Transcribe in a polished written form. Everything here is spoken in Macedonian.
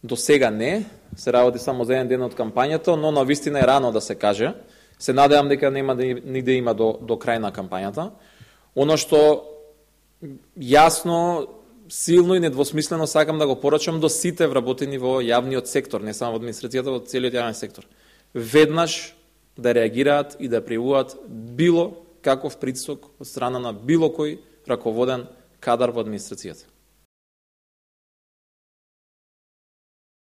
До сега не, се работи само за еден ден од кампањата, но навистина е рано да се каже. Се надевам дека нема ни да има до крај на кампањата. Оно што јасно, силно и недвосмислено сакам да го порачам до сите вработени во јавниот сектор, не само во администрацијата, во целиот јавен сектор. Веднаш да реагираат и да пријавуваат било каков притисок од страна на било кој раководен кадар во администрацијата.